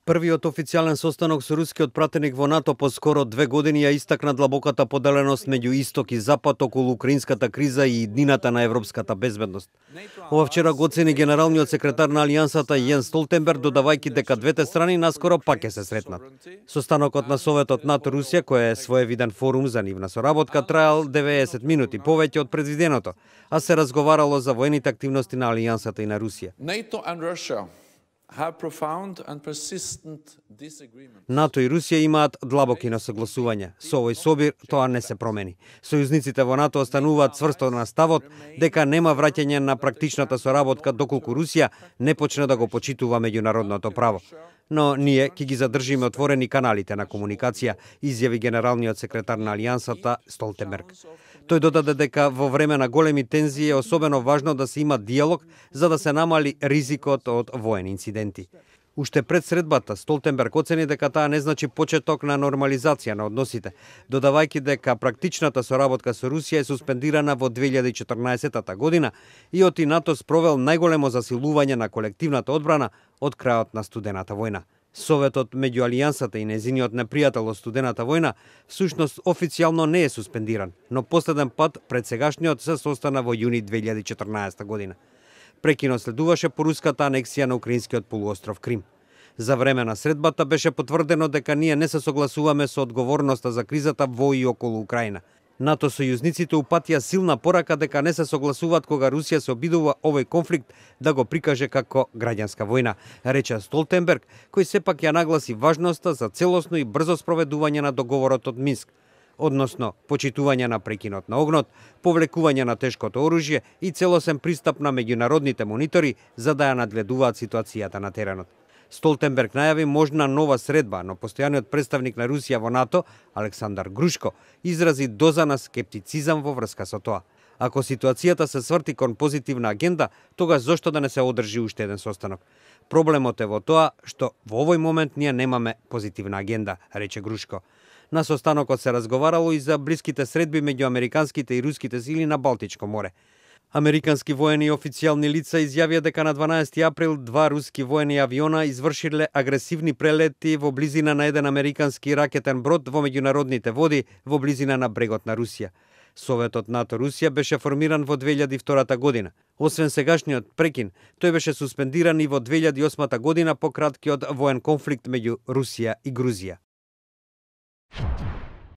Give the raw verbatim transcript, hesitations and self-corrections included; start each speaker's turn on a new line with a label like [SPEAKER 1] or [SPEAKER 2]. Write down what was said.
[SPEAKER 1] Првиот официјален состанок со рускиот пратеник во НАТО по скоро две години ја истакна длабоката поделеност меѓу Исток и Запад околу украинската криза и иднината на европската безбедност. Ова вчера го оцени генералниот секретар на Алијансата Јенс Столтенберг, додавајќи дека двете страни наскоро пак ќе се сретнат. Состанокот на Советот НАТО-Русија, кој е своевиден форум за нивна соработка, траел деветдесет минути повеќе од предвиденото, а се разговарало за воените активности на Алијансата и на Русија. НАТО и Русија имаат длабоки несогласувања. Со овој собир тоа не се промени. Сојузниците во НАТО остануваат цврсто на ставот дека нема враќање на практичната соработка доколку Русија не почне да го почитува меѓународното право. Но ние ќе ги задржиме отворени каналите на комуникација, изјави генералниот секретар на Алијансата Столтенберг. Тој додаде дека во време на големи тензии е особено важно да се има диалог за да се намали ризикот од воени инциденти. Уште пред средбата, Столтенберг оцени дека таа не значи почеток на нормализација на односите, додавајќи дека практичната соработка со Русија е суспендирана во две илјади и четрнаесетта година и оти НАТО спровел најголемо засилување на колективната одбрана од крајот на студената војна. Советот меѓу Алијансата и незиниот непријател од студената војна всушност официјално не е суспендиран, но последен пат пред сегашниот се состана во јуни две илјади и четрнаесетта година. Прекинот следуваше по руската анексија на украинскиот полуостров Крим. За време на средбата беше потврдено дека ние не се согласуваме со одговорноста за кризата во и околу Украина. НАТО сојузниците упатија силна порака дека не се согласуваат кога Русија се обидува овој конфликт да го прикаже како граѓанска војна, рече Столтенберг, кој сепак ја нагласи важноста за целосно и брзо спроведување на договорот од Минск, односно почитување на прекинот на огнот, повлекување на тешкото оружје и целосен пристап на меѓународните монитори за да ја надгледуваат ситуацијата на теренот. Столтенберг најави можна нова средба, но постојаниот представник на Русија во НАТО, Александар Грушко, изрази доза на скептицизам во врска со тоа. Ако ситуацијата се сврти кон позитивна агенда, тогаш зошто да не се одржи уште еден состанок? Проблемот е во тоа што во овој момент ние немаме позитивна агенда, рече Грушко. На состанокот се разговарало и за блиските средби меѓу американските и руските сили на Балтичко море. Американски воени и официјални лица изјавија дека на дванаесети април два руски воени авиона извршиле агресивни прелети во близина на еден американски ракетен брод во меѓународните води во близина на брегот на Русија. Советот НАТО-Русија беше формиран во две илјади и втора година. Освен сегашниот прекин, тој беше суспендиран и во две илјади и осма година по краткиот воен конфликт меѓу Русија и Грузија.